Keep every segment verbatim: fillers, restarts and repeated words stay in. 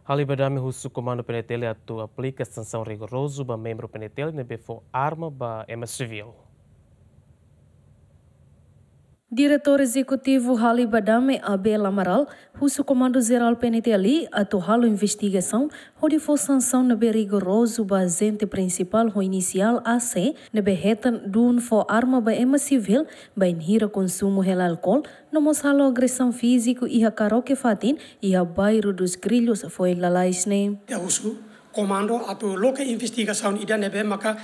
Halibadame husu Komandu P N T L atu aplika sansaun rigorozu ba membru P N T L ne'ebé fó arma ba ema sivíl. Diretór Ezekutivu Halibadame, Abel Amaral, husu Komandu Jerál P N T L atu halo investigasaun hodi fó sansaun ne'ebé rigorozu ba ajente prinsipál ho inisiál A C ne'ebé hetan dún fó arma ba ema sivíl bainhira konsumu hela álkol, no mós halo agresaun fíziku iha karaoke fatin iha bairru dos Grillos, foin lalais ne'e. Ita husu komandu atu loke investigasaun ida ne'ebé maka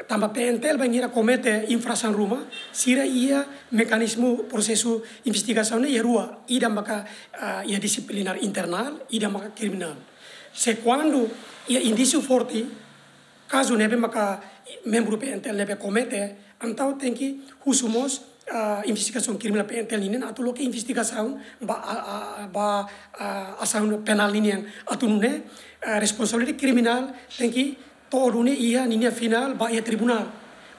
tanba P N T L bainhira komete infrasaun ruma, sira iha mekanizmu prosesu investigasaun ne'e iha rua, ida maka, ah, iha disiplinár internál, ida maka kriminál. Se kuandu iha indísiu forte, kazu ne'ebé maka membru P N T L ne'ebé komete, entaun tenke husu mós, ah, investigasaun kriminál P N T L ninian atu loke investigasaun ba, ah, ah, ba, ah, asaun penál ninian atu nune'e, ah, responsabilidade kriminál tenke to'o duni iha ninia finál ba iha tribunál.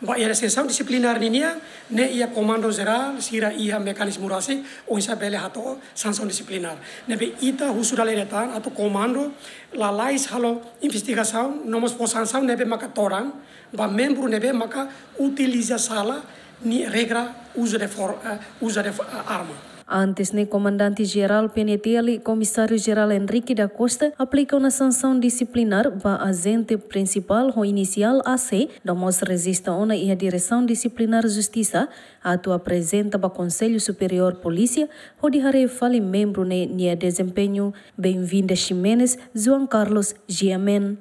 Ba iha sansaun disiplinár ninian, ne'e iha Komandu Jerál, sira iha mekanizmu rasik, oinsá bele hato'o sansaun disiplinár. Ne'ebé ita husu dala ida tan atu komandu lalais halo investigasaun, no mós fó sansaun ne'ebé maka todan ba membru ne'ebé maka utiliza sala nia regra uzu de for-, eh, uzu de fo-, eh, arma. Antes ne'e, Komandante Jerál P N T L, Komisáriu Jerál Henrique da Costa, aplika ona sansaun disiplinár ba ajente prinsipál ho inisiál A C, no mós rejista ona iha Diresaun Disiplinár Justisa, atu aprezenta ba Konsellu Superiór Polísia, hodi haree fali membru ne'e nia dezempeñu. Benvinda Ximenes, João Carlos, G M N.